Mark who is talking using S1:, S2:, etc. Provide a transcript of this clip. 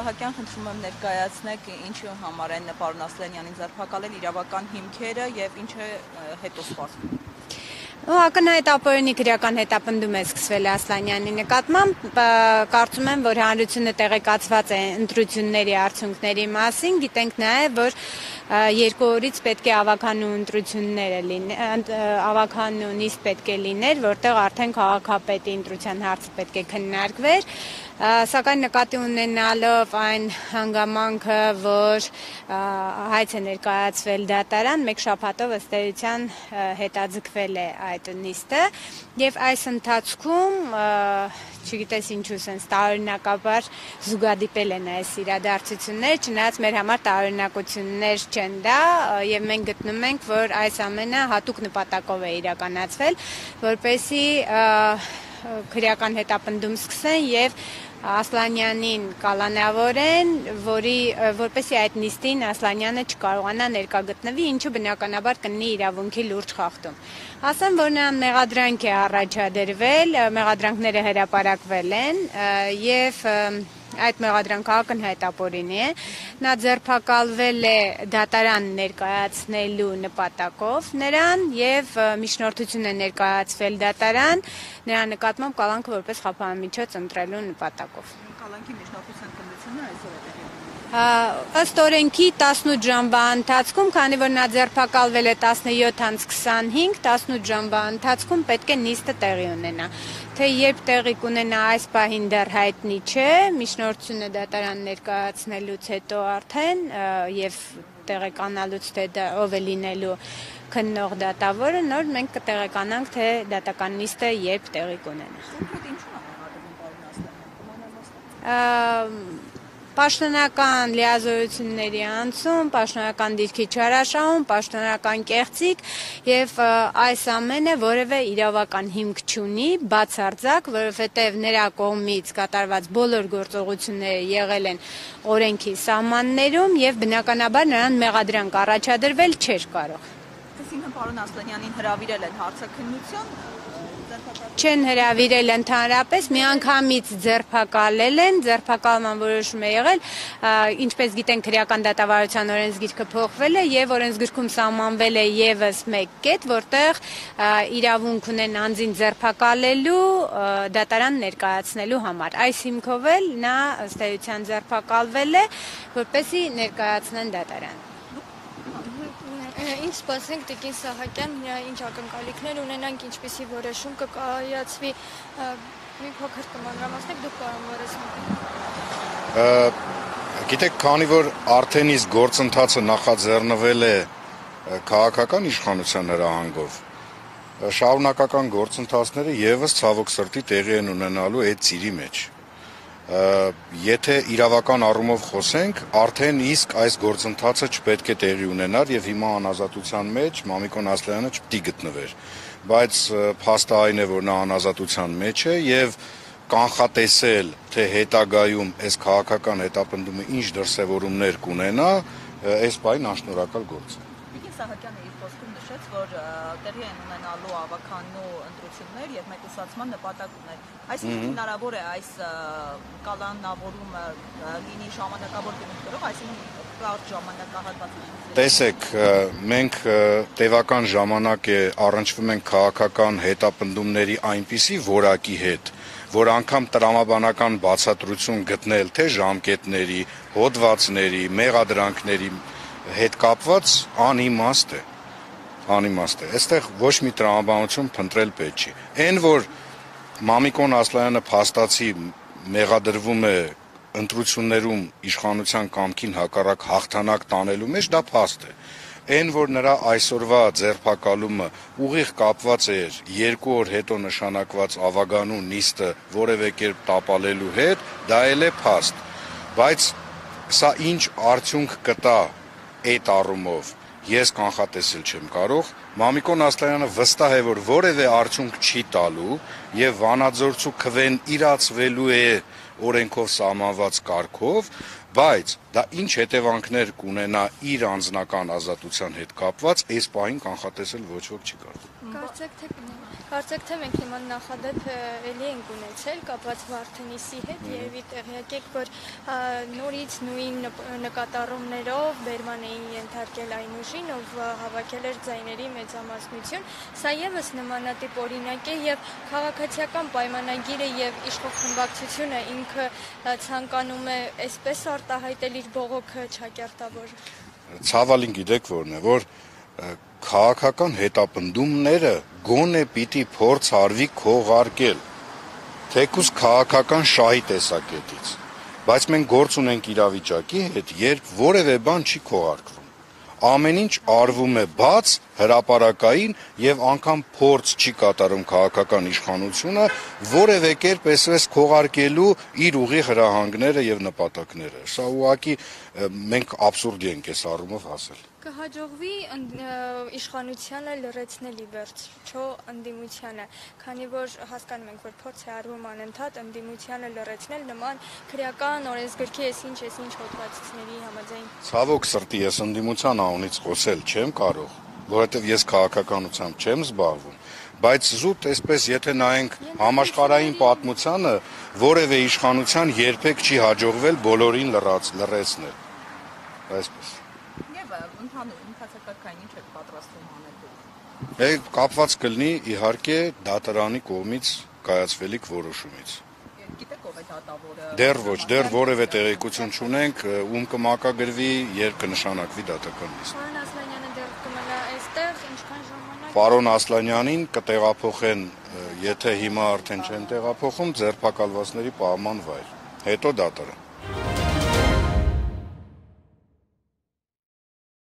S1: Սահակյան, խնդրում եմ ներկայացնեք ինչու համար են պարոն Ասլանյանին ձերբակալել, իրավական հիմքերը եւ ինչ է հետո սպասվում։
S2: Ակնհայտ ապօրինի քրեական հետապնդում է սկսվել Ասլանյանի նկատմամբ, կարծում եմ, որ հանրությունը տեղեկացված է ընտրությունների արդյունքների մասին, գիտենք նաև, որ 2 օրից պետք է ավականու ընտրությունները ավականու նիստ պետք է լիներ, որտեղ արդեն քաղաքապետի ընտրության հարցը պետք է քննարկվեր, սակայն նկատի ունենալով այն հանգամանքը, որ հայց է ներկայացվել դատարան, մեկ շաբաթով ըստ էության հետաձգվել է այդ նիստը եւ այս ընթացքում չգիտես ինչու sense տարօրինակաբար զուգադիպել են այս իրադարձությունները, չնայած մեր համար տարօրինակություններ չեն դա եւ մենք գտնում ենք, որ այս ամենը հատուկ նպատակով է իրականացվել, որպեսզի քրեական հետապնդում սկսեն եւ Ասլանյանին կալանավորեն, որպեսզի այդ նիստին Ասլանյանը չկարողանա ներկա գտնվի, ինչը բնականաբար կլինի իրավունքի լուրջ խախտում։ Ասեմ, որ նրան մեղադրանք է առաջադրվել, մեղադրանքները հրապարակվել են եւ այդ մեղադրանքը ակնհայտ ապօրինի է, նա ձերբակալվել է դատարան ներկայացնելու նպատակով նրան եւ միջնորդություն է ներկայացվել դատարան նրա նկատմամբ կալանքը որպես խափանամիջոց ընտրելու նպատակով։
S1: Կալանքի միջնորդության քննությունը այսօր է տեղի
S2: ըստ օրենքի 18 ժամվա ընթացքում, քանի որ նա ձերբակալվել է 17:25, 18 ժամվա ընթացքում պետք է նիստը տեղի ունենա։ Թե երբ տեղի կունենա այս պահին դեռ հայտնի չէ, միջնորդությունը դատարան ներկայացնելուց հետո արդեն եւ տեղեկանալուց թե ով է լինելու քննող դատավորը, նոր մենք կտեղեկանանք, թե դատական նիստը երբ տեղի կունենա։ Պաշտոնական լիազորությունների անցում, պաշտոնական դիրքի չարաշահում, պաշտոնական կեղծիք եւ այս ամենը որևէ իրավական հիմք չունի, բացարձակ, որովհետեւ նրա կողմից կատարված բոլոր գործողությունները եղել են օրենքի սահմաններում եւ բնականաբար նրան մեղադրանք առաջադրվել չէր կարող։
S1: Այսինքն պարոն Ասլանյանին հրավիրել են հարցաքննություն,
S2: չեն հրավիրել ընդհանրապես, միանգամից ձերբակալել են, ձերբակալման որոշում է եղել, ինչպես գիտենք քրեական դատավարության օրենսգիրքը փոխվել է եւ օրենսգիրքում սահմանվել է եւս մեկ կետ, որտեղ իրավունք ունեն անձին ձերբակալելու դատարան ներկայացնելու համար։ Այս հիմքով էլ նա ըստ էության ձերբակալվել է, որպեսզի ներկայացնեն դատարան։
S3: Ինչ սպասենք Տիկին Սահակյան, ինչ ակնկալիքներ ունենանք, ինչպիսի որոշում կկայացվի, մի փոքր կմանրամասնեք դուք պարոն Բորիսյան։
S4: Գիտեք, քանի որ արդեն իսկ գործընթացը նախաձեռնվել է քաղաքական իշխանության հրահանգով, շարունակական գործընթացները եւս ցավոք սրտի տեղի են ունենալու այդ ծիրի մեջ։ Եթե իրավական առումով խոսենք, արդեն իսկ այս գործընթացը չպետք է տեղի ունենար եւ հիմա անազատության մեջ Մամիկոն Ասլանյանը չպետք է գտնվեր, բայց փաստը այն է, որ նա անազատության մեջ է եւ կանխատեսել, թե հետագայում այս քաղաքական հետապնդումը ինչ դրսևորումներ կունենա, այս բան անշնորհակալ գործ է։
S1: Տիկին Սահակյանը իր խոսքում նշեց, որ տեղի են ունենալու ավականու ընտրություններ եւ մեկուսացման նպատակ ուներ։ Այսինքն հնարավոր է այս կալանավորումը լինի ժամանակավոր գնումներով, այսինքն կարճ ժամանակահատված։
S4: Տեսեք, մենք տևական ժամանակ է առնչվում ենք քաղաքական հետապնդումների այնպիսի որակի հետ, որ անգամ տրամաբանական բացատրություն գտնել թե ժամկետների, հոդվածների, մեղադրանքների հետ կապված անիմաստ է։ Այստեղ ոչ մի տրամաբանություն փնտրել պետք չի։ Այն որ Մամիկոն Ասլանյանը փաստացի մեղադրվում է ընտրություններում իշխանության կամքին հակառակ հաղթանակ տանելու մեջ, դա փաստ է։ Այն որ նրա այսօրվա ձերբակալումը ուղիղ կապված էր 2 օր հետո նշանակված ավագանու նիստը որևէ կերպ տապալելու հետ, դա էլ է փաստ։ Բայց սա ինչ արդյունք կտա այդ առումով, ես կանխատեսել չեմ կարող։ Մամիկոն Ասլանյանը վստահ է, որ որևէ արդյունք չի տալու եւ վանաձորցու քվեն իրացվելու է օրենքով սահմանված կարգով, բայց դա ինչ հետևանքներ կունենա իր անձնական ազատության հետ կապված, այս պահին կանխատեսել ոչ ոք չի կարող։
S3: Կարծեք թե մենք նման նախադեպ էլի ենք ունեցել կապված Վարդենիսի հետ եւ տեղյակ եք որ նորից նույն նկատառումներով բերման էին ենթարկել այն ուժին ով հավաքել էր ձայների մեծամասնություն սա եւս նմանատիպ օրինակ է եւ քաղաքացիական պայմանագիրը եւ իշխող խմբակցությունը ինքը ցանկանում է այսպես արտահայտել իր բողոքը չակերտավոր
S4: Ցավալին գիտեք որն է որ քաղաքական հետապնդումները գոնե պիտի փորձ արվի քողարկել թեկուզ քաղաքական շահի տեսակետից բայց մենք գործ ունենք իրավիճակի հետ երբ որևէ բան չի քողարկվում ամեն ինչ արվում է բաց հրապարակային եւ անգամ փորձ չի կատարում քաղաքական իշխանությունը որևէ կերպ այսպես քողարկելու իր ուղի հրահանգները եւ նպատակները սա ուղղակի մենք աբսուրդի ենք այս առումով հասել
S3: Կհաջողվի իշխանությանը լրացնել ի վերջ, չէ՞ ընդդիմությանը, քանի որ հասկանում ենք, որ փորձ է արվում անընդհատ ընդդիմությանը լրացնել նման քրեական օրենսգրքի այսինչ հոդվածների համաձայն։
S4: Ցավոք սրտի ես ընդդիմության անունից խոսել չեմ կարող, որովհետև ես քաղաքականությամբ չեմ զբաղվում, բայց զուտ այսպես եթե նայենք համաշխարհային պատմությանը, որևէ իշխանության երբեք չի հաջողվել բոլորին լրացնել։ Այսպես
S1: Ընթացակարգային ինչ եք պատրաստվում անել։
S4: Կապված կլինի իհարկե դատարանի կողմից կայացվելիք որոշումից։
S1: Գիտեք ով է դատավորը։
S4: Դեռ ոչ, դեռ որևէ տեղեկություն չունենք, ում կմակագրվի, երբ կնշանակվի դատական նիստ։
S3: Պարոն Ասլանյանը դեռ կմնա այստեղ, ինչքան ժամանակ։
S4: Պարոն Ասլանյանին կտեղափոխեն, եթե հիմա արդեն չեն տեղափոխում, ձերբակալվածների պահման վայր։ Հետո դատարան։